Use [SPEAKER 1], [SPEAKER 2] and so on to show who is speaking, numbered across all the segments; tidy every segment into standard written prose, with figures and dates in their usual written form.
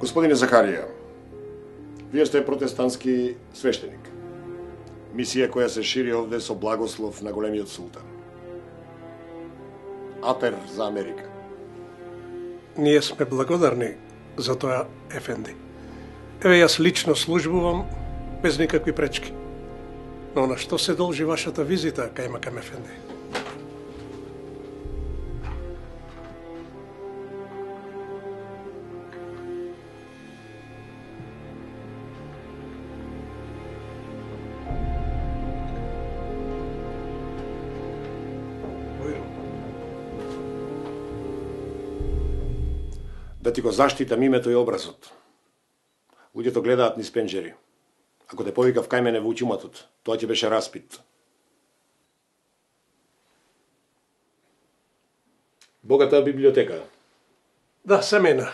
[SPEAKER 1] Господине Захарија, вие сте протестантски свештеник. Мисија која се шири овде со благослов на големиот султан. Апер за Америка.
[SPEAKER 2] Ние сме благодарни за тоа, ефенди. Еве, јас лично службувам без никакви пречки. Но на што се должи вашата визита, кајмакам ефенди?
[SPEAKER 1] Да ти го заштитам името и образот. Луѓето гледаат низ пенџери. Ако те повикав кај мене во учуматот, тоа ќе беше распит. Богата библиотека.
[SPEAKER 2] Да, семена.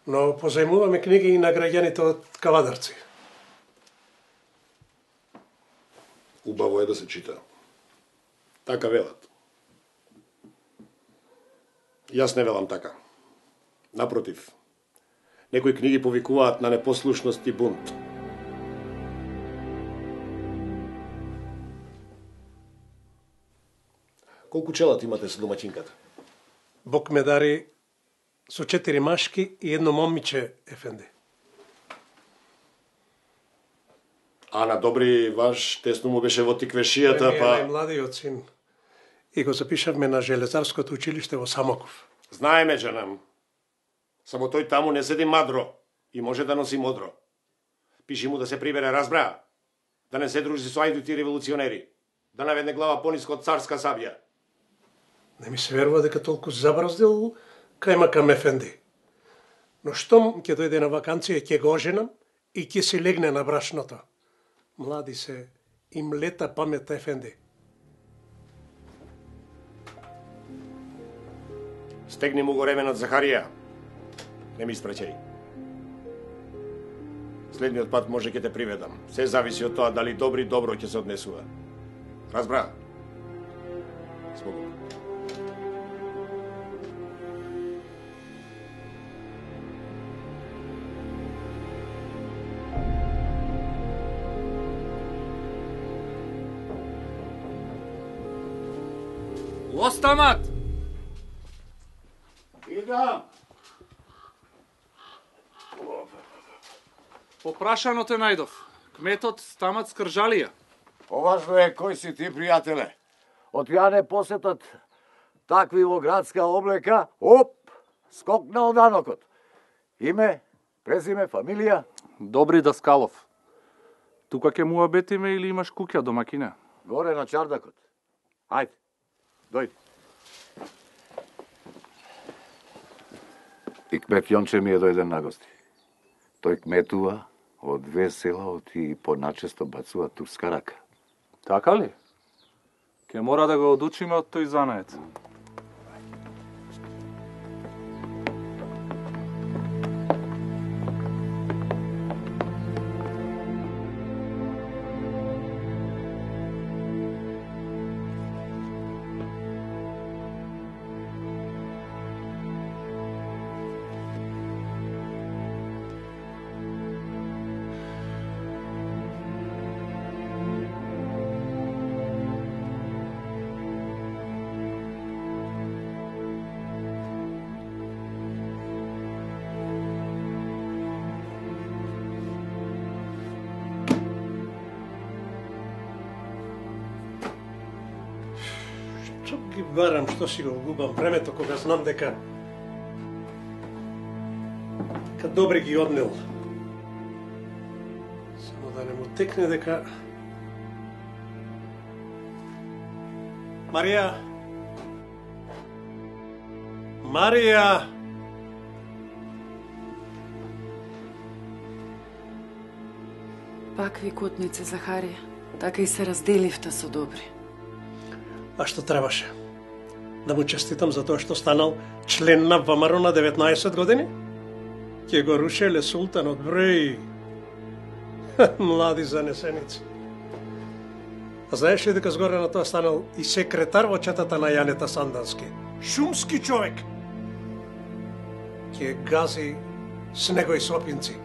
[SPEAKER 2] Но позајмуваме книги и на граѓаните од Кавадарци.
[SPEAKER 1] Убаво е да се чита. Така велат. Јас не велам така. Напротив, некои книги повикуваат на непослушност и бунт. Колку челат имате со домаќинката?
[SPEAKER 2] Бог ме дари со 4 машки и едно момиче, ефенди.
[SPEAKER 1] А на Добри ваш тесно му беше во тиквешијата, па...
[SPEAKER 2] Најмладиот син. И го запишавме на Железарското училиште во Самоков.
[SPEAKER 1] Знаеме, джанам. Само тој таму не седи мадро и може да носи модро. Пиши му да се прибере, разбра. Да не се дружи со ајдути револуционери. Да наведне глава пониско од царска сабја.
[SPEAKER 2] Не ми се верува дека толку забраздил кајмакам ефенди. Но штом ќе дојде на ваканција, ќе го оженам и ќе се легне на брашното. Млади се, им лета памет, ефенди.
[SPEAKER 1] Стегни му го ременот, Захарија. Не ми испраќај. Следниот пат може ќе те приведам. Се зависи од тоа дали Добри добро ќе се однесува. Разбра? Спогум.
[SPEAKER 3] Остамат!
[SPEAKER 4] Идам!
[SPEAKER 3] Попрашано те најдов. Кметот Стамат Скржалија.
[SPEAKER 4] Поважно е кој си ти, пријателе. Од ја не посетат такви во градска облека, оп, скокнал данокот. Име, презиме, фамилија?
[SPEAKER 3] Добри Даскалов. Тука ќе му абетиме или имаш куќа, домакине?
[SPEAKER 4] Горе на чардакот. Ајде, дојди. И кмет Јонче ми е дојден на гости. Тој кметува од 2 села и поначесто бацува турска рака.
[SPEAKER 3] Така ли? Ке мора да го одучиме од тој занаец.
[SPEAKER 2] Што ги барам, што си го губам времето кога знам дека Добри ги однел. Само да не му текне дека... Марија! Марија!
[SPEAKER 5] Пак ви котнице, Захарија. Така и се разделивте со Добри.
[SPEAKER 2] А што требаше? Да му честитам за тоа што станал член на ВМРО на 19 години? Ке го рушеле султанот, бреј. Млади занесеници. А знаеш ли дека згоре на тоа станал и секретар во четата на Јанета Сандански? Шумски човек. Ке гази с негови сопинци.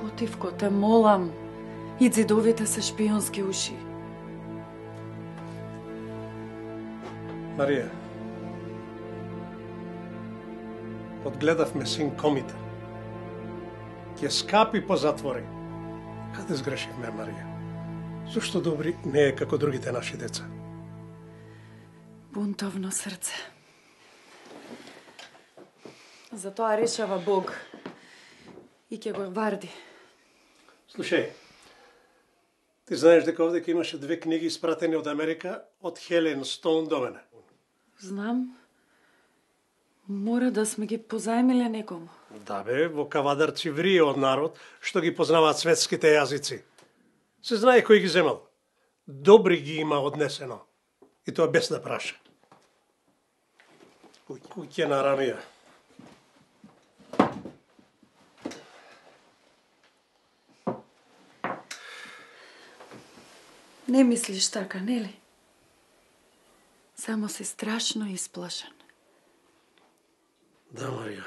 [SPEAKER 5] Потивко, те молам. И зидовите се шпионски уши.
[SPEAKER 2] Марија, одгледавме син Комита. Ќе скапи по затвори. Каде сгрешивме, Марија? Зошто Добри не е како другите наши деца?
[SPEAKER 5] Бунтовно срце. Затоа решава Бог. И ќе го варди.
[SPEAKER 2] Слушај, ти знаеш дека овде имаше 2 книги испратени од Америка од Хелен Стоун до мене.
[SPEAKER 5] Знам. Мора да сме ги позајмиле некому.
[SPEAKER 2] Да бе, во Кавадарци врие од народ што ги познаваат светските јазици. Се знае кој ги земал. Добри ги има однесено. И тоа без да праша. Куќе на Рамија.
[SPEAKER 5] Не мислиш така, нели? Само си страшно исплашен.
[SPEAKER 2] Да, Марија.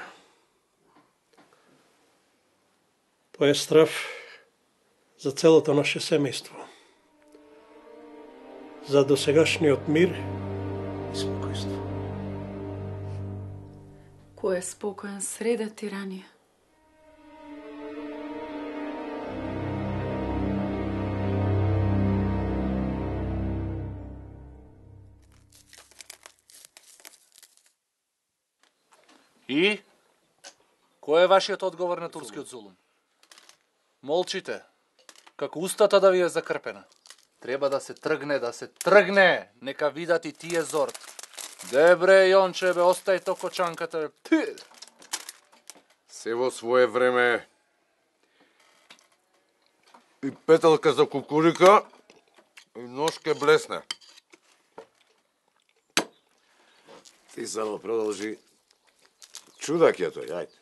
[SPEAKER 2] Тоа е страв за целото наше семејство. За досегашниот мир и спокојство.
[SPEAKER 5] Кој е спокоен среде тиранија?
[SPEAKER 3] И? Кој е вашиот одговор на турскиот зулум? Молчите, како устата да ви е закрпена. Треба да се тргне, нека видат и тие зорт. Дебре, Јонче, бе, остај то кочанката.
[SPEAKER 4] Се во свое време и петелка за кукурика и ножке блесне. Ти само продолжи. Чудак е тој, ајде.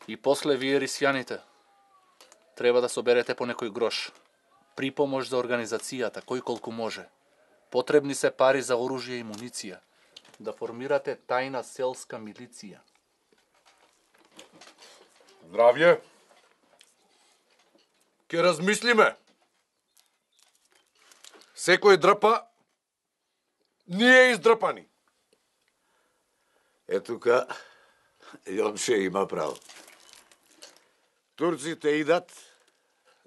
[SPEAKER 3] И после вие рисјаните. Треба да соберете по некој грош. Припомош за организацијата, кој колку може. Потребни се пари за оружје и муниција. Да формирате тајна селска милиција.
[SPEAKER 4] Здравје. Ке размислиме. Секој дрпа, ние издрпани. Е тука, Јонче има право. Турците идат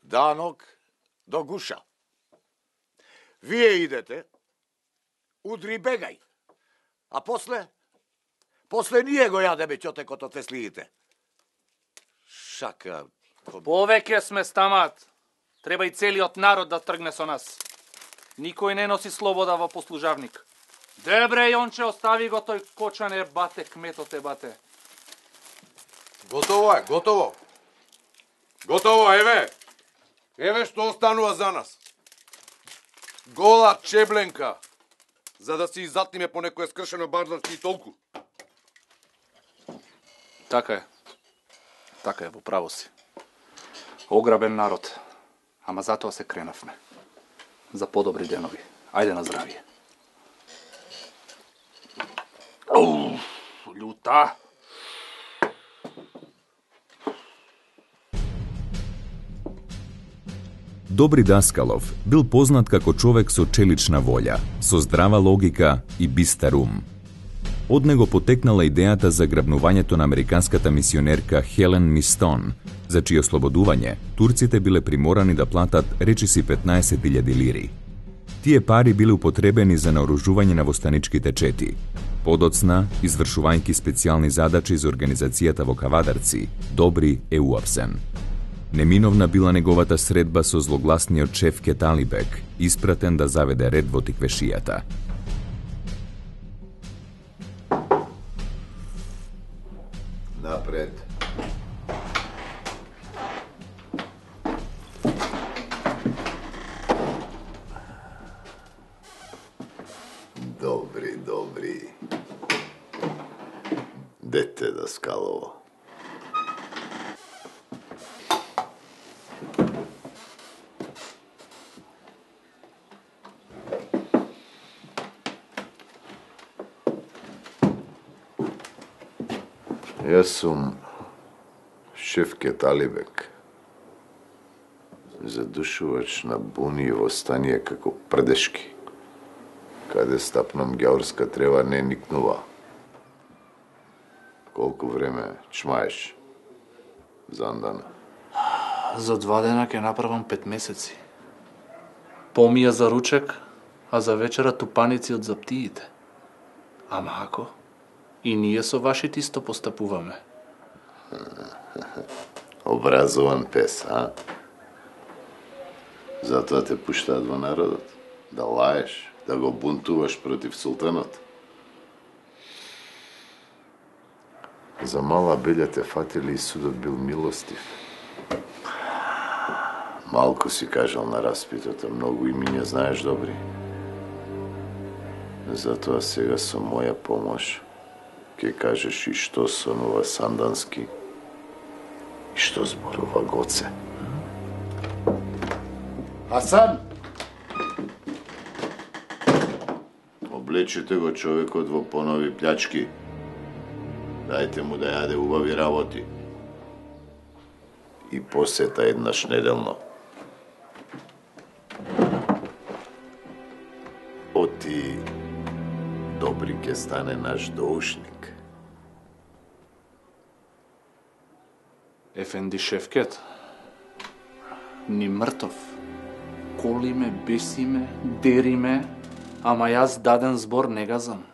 [SPEAKER 4] данок до гуша. Вие идете, удри бегај. А после ние го јадеме ќотекот од теслиите. Шака.
[SPEAKER 3] Повеќе сме стамат. Треба и целиот народ да тргне со нас. Никој не носи слобода во послужавник. Дебре, Јонче, остави го тој кочан бате, кметот бате.
[SPEAKER 4] Готово е, готово. Готово, еве. Еве што останува за нас. Гола чебленка, за да си изатниме по некој скршено барларски и толку.
[SPEAKER 3] Така е, во право си. Ограбен народ, ама затоа се кренавме. За подобри денови. Ајде на здравје. Љута.
[SPEAKER 6] Добри Даскалов бил познат како човек со челична волја, со здрава логика и бистар ум. Од него потекнала идејата за грабнувањето на американската мисионерка Хелен Мистон, за чие ослободување турците биле приморани да платат речиси 15.000 лири. Тие пари биле употребени за наоружување на востаничките чети. Подоцна, извршувајќи специјални задачи за организацијата во Кавадарци, Добри е уапсен. Неминовна била неговата средба со злогласниот шеф Кеталибек, испратен да заведе ред во тиквешијата.
[SPEAKER 4] Напред. Добри. Дете Даскалово. Јас сум
[SPEAKER 7] Шевкет Алибек, задушувач на буни и востание како прдешки. Каде стапном гјаурска трева не никнува. Колку време чмаеш за андана?
[SPEAKER 3] За 2 дена ќе направам 5 месеци. Помија за ручек, а за вечера тупаници од заптиите. Ама ако и ние со вашите исто постапуваме.
[SPEAKER 7] Образован пес, а? Затоа те пуштаат во народот. Да лаеш, да го бунтуваш против султанот. За мала белја те фатили и судот бил милостив. Малку си кажал на распитот, а многу имиња знаеш добри. Затоа сега со моја помош ќе кажеш и што сонува Сандански и што зборува Гоце. Асан! Облечете го човекот во понови плячки. Дајте му да јаде убави работи. И посета еднаш неделно. Оти добри ке стане наш доушник.
[SPEAKER 3] Ефенди Шевкет, ни мртов. Колиме, бесиме, дериме, ама јас даден збор не газам.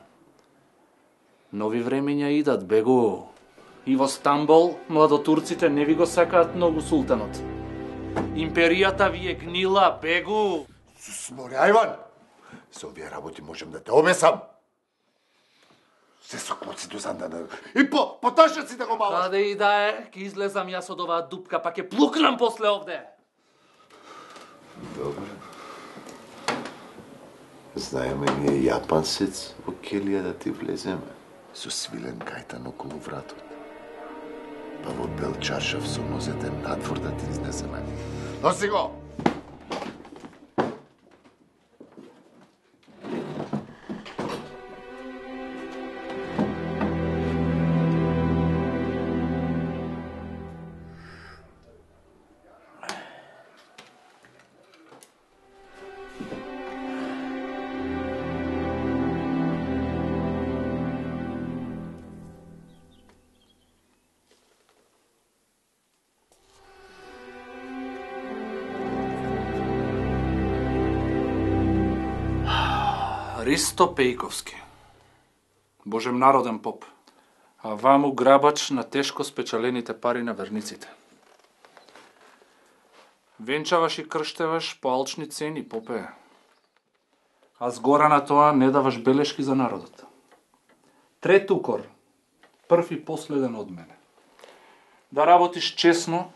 [SPEAKER 3] Нови времења идат, бегу. И во Стамбол младотурците не ви го сакаат многу султанот. Империјата ви е гнила, бегу.
[SPEAKER 7] Сморе, Ајван! Со овие работи можем да те обесам. Се со клоци до Сандана. И по ташаци да го малаш.
[SPEAKER 3] Каде и да е, ќе излезам јас од оваа дупка, па ќе плукнам после овде.
[SPEAKER 7] Добре. Знаеме ние јапансец во келија да ти влеземе. Со свилен кајтан околу вратот. Па во бел чаршав со нозете надвор да ти изнесеме. Носи го!
[SPEAKER 3] Ристо Пејковски, Божем народен поп, а ваму грабач на тешко спечалените пари на верниците. Венчаваш и крштеваш по алчни цени, попе. А згора на тоа не даваш белешки за народот. Трет укор, прв и последен од мене. Да работиш честно,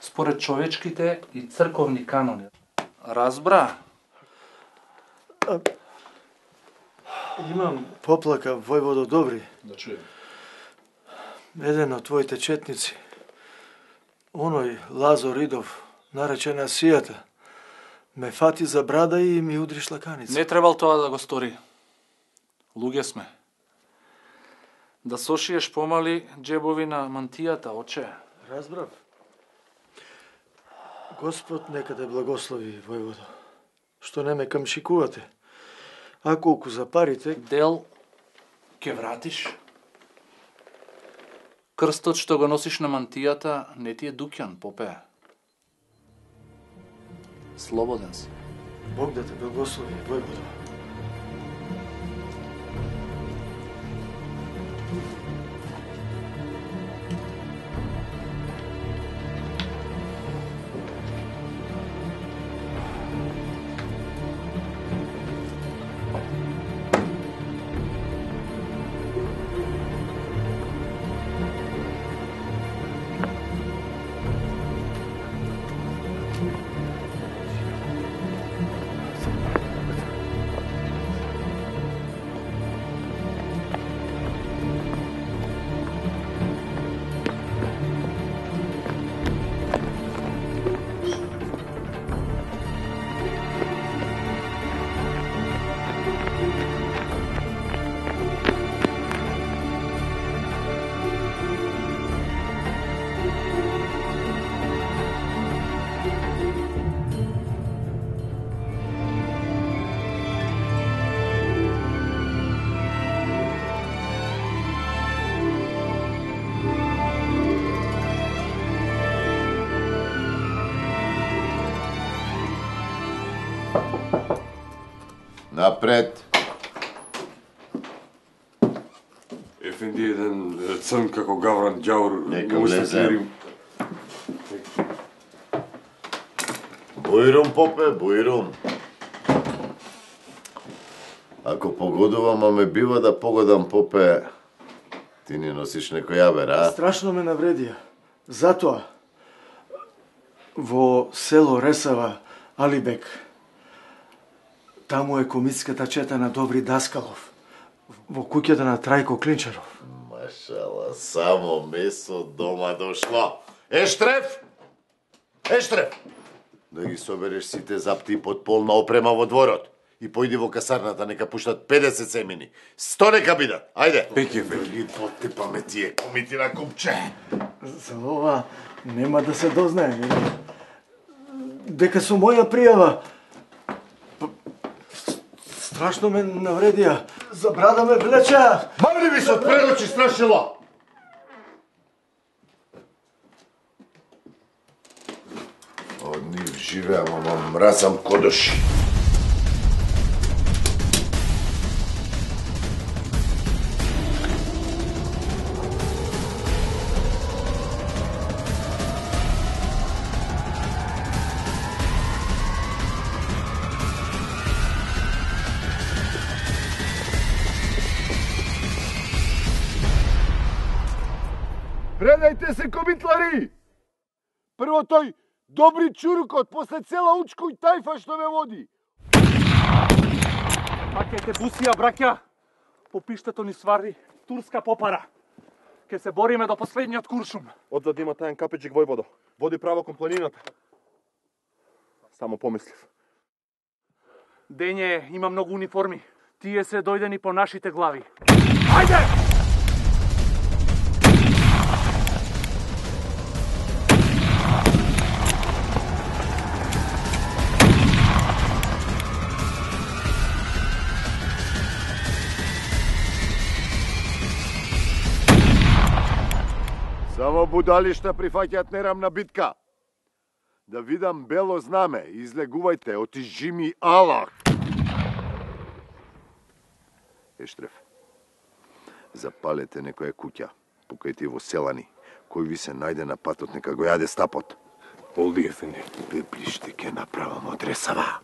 [SPEAKER 3] според човечките и црковни канони. Разбра?
[SPEAKER 8] Имам поплака, војводо Добри.
[SPEAKER 3] Да чуjem.
[SPEAKER 8] Еден од твоите четници, оној Лазо Ридов, наречен Асијата, ме фати за брада и ми удри шлаканица.
[SPEAKER 3] Не требал тоа да го стори. Луѓе сме. Да сошиеш помали джебови на мантијата, оче.
[SPEAKER 8] Разбрав. Господ нека те благослови, војводо, што не ме камшикувате. А колку за парите...
[SPEAKER 3] Дел ќе вратиш. Крстот што го носиш на мантијата не ти е дуќан, попе. Слободен си.
[SPEAKER 8] Бог да те благослови, војводо.
[SPEAKER 7] Напред.
[SPEAKER 9] Ефенди, еден црн како гавран ѓавор.
[SPEAKER 7] Нека влезем. Бујрум, попе, бујрум. Ако погодувам, а ме бива да погодам, попе, ти ни носиш некој јабер, а?
[SPEAKER 8] Страшно ме навредија. Затоа, во село Ресава, Алибек, таму е комитската чета на Добри Даскалов, во куќата на Трајко Клинчаров.
[SPEAKER 7] Машала, само месо дома дошло. Ештреф! Ештреф! Да ги собереш сите запти под полна опрема во дворот. И појди во касарната, нека пуштат 50 семени. 100 нека бидат. Ајде.
[SPEAKER 9] Пеќе,
[SPEAKER 7] Ги потепаме тие комити на купче.
[SPEAKER 8] За ова нема да се дознае. Дека со моја пријава страшно ме навредија. За брада ме влеча.
[SPEAKER 7] Мамли ми се од пред очи, страшило! Од нив живеам, ама мразам кодоши.
[SPEAKER 10] Предајте се, комитлари! Прво тој добри чурукот, после цела учко и тајфа што ме води.
[SPEAKER 3] Пакете бусија, браќа! По пиштето ни свари турска попара. Ке се бориме до последниот куршум.
[SPEAKER 10] Одзад има тајан капеджик војводо. Води право кон планината. Само помислив.
[SPEAKER 3] Дење има многу униформи. Тие се дојдени по нашите глави. Ајде!
[SPEAKER 10] Само будалишта прифаќаат нерамна битка. Да видам бело знаме, излегувајте, отижи ми Аллах. Ештреф, запалете некоја куќа, покајте во селани, кој ви се најде на патот, нека го јаде стапот.
[SPEAKER 9] Олди, ефенди.
[SPEAKER 10] Пеплиште ке направам од Ресава.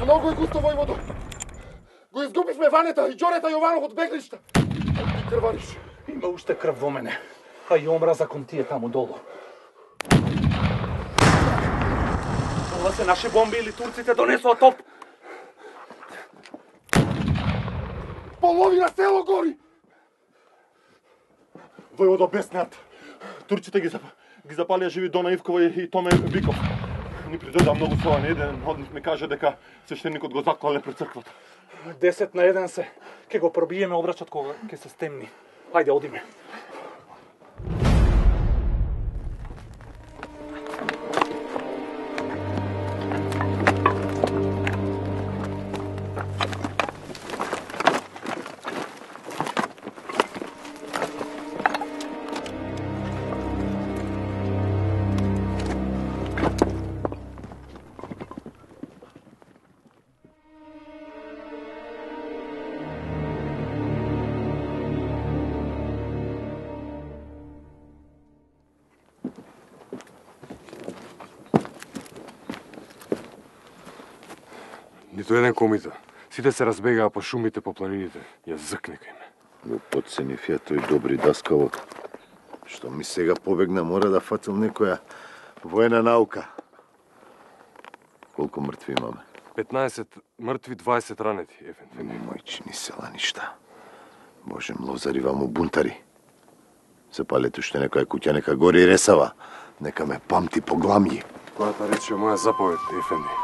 [SPEAKER 10] Многу е густо, војводо. Го изгубивме Ванета и Ѓорета Јованов од беглишта. А ти крвариш.
[SPEAKER 3] Има уште крв во мене, а и омраза кон тие таму долу. Ова се наши бомби или турците донесоа топ?
[SPEAKER 10] Половина село гори! Војводо, беснат. Турците ги запалија живи Дона Ивкова и Томе Биков. Ни придојда многу славани. Еден од нив ми каже дека свештеникот го заклале пред црквата.
[SPEAKER 3] 10 на 1 се. Ке го пробиеме обрачот кога ке се стемни. Ајде, одиме.
[SPEAKER 9] Нито еден комита. Сите се разбегаа по шумите, по планините. Ја зыкнека им.
[SPEAKER 7] Го подценив ја тој Добри Даскалот. Што ми сега побегна, мора да фатил некоја воена наука. Колку мртви имаме?
[SPEAKER 9] 15 мртви, 20 ранети, ефенди.
[SPEAKER 7] Мојчини села ништа. Боже, млозари ваму бунтари. Запалете уште некоја куќа, нека гори Ресава. Нека ме памти по гламји.
[SPEAKER 9] Којата рече моја заповед, ефенди.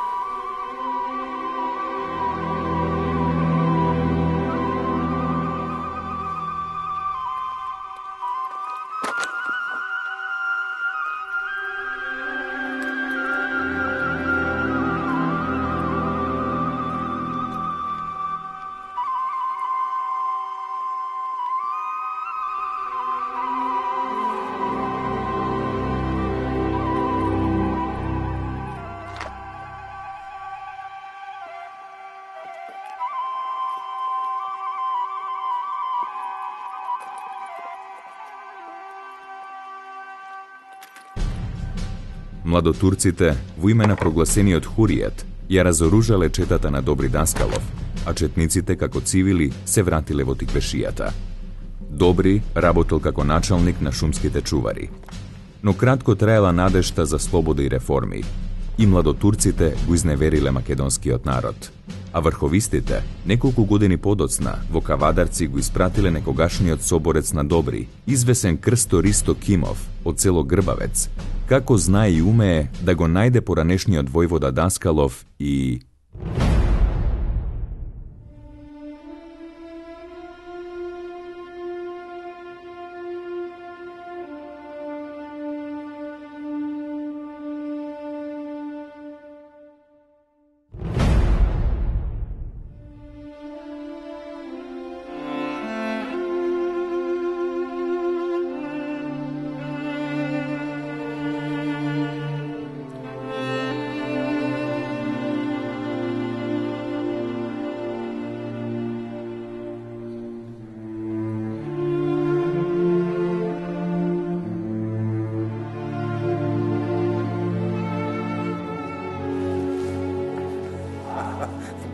[SPEAKER 6] Младотурците, во име на прогласениот хуријат, ја разоружале четата на Добри Даскалов, а четниците како цивили се вратиле во тиквешијата. Добри работел како началник на шумските чувари. Но кратко траела надежта за слобода и реформи. И младотурците го изневериле македонскиот народ. А врховистите, неколку години подоцна, во Кавадарци го испратиле некогашниот соборец на Добри, извесен Крсто Ристо Кимов, од село Грбавец, како знае и умее да го најде поранешниот војвода Даскалов и...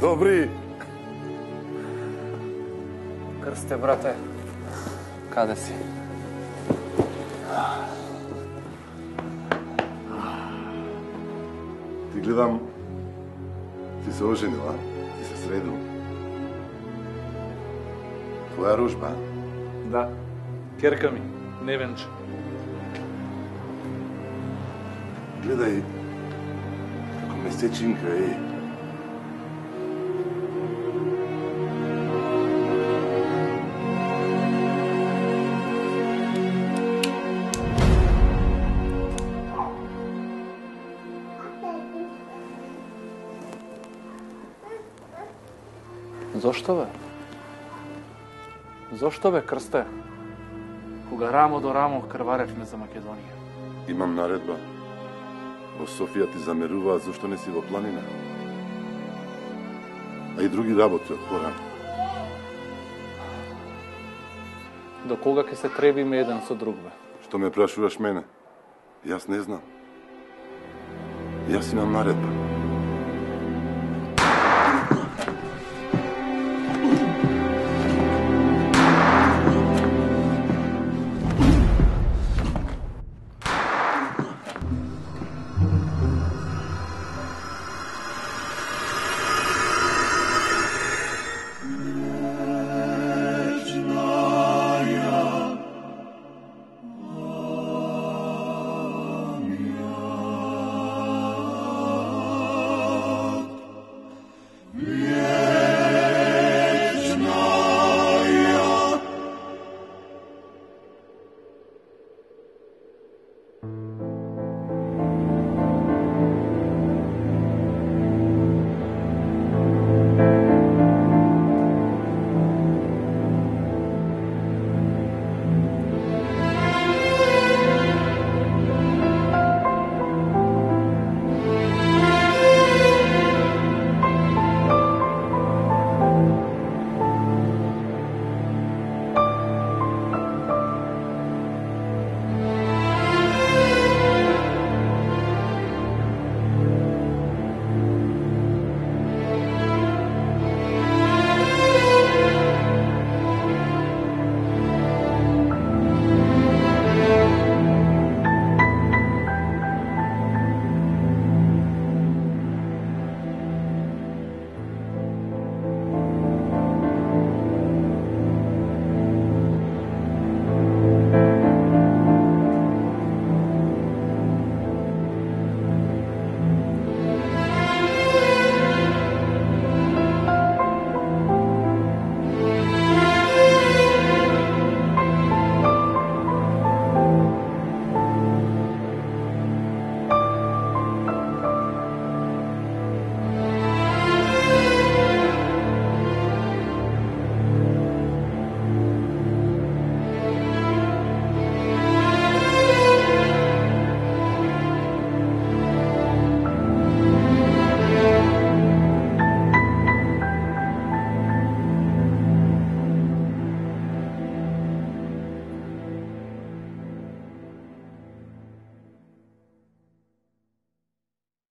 [SPEAKER 7] Добри!
[SPEAKER 3] Крсте, брате, каде си?
[SPEAKER 7] Ти гледам, ти се оженил, а? Ти се средил. Твоја рожба?
[SPEAKER 3] Да, керка ми, невенче.
[SPEAKER 7] Гледај, како месечинка,
[SPEAKER 3] Зошто бе? Зошто бе, Крсте? Кога рамо до рамо крваревме за Македонија.
[SPEAKER 7] Имам наредба. Во Софија ти замеруваат зашто не си во планина. А и други работи од порано.
[SPEAKER 3] До кога ќе се требиме еден со друг, бе?
[SPEAKER 7] Што ме прашуваш мене? Јас не знам. Јас имам наредба.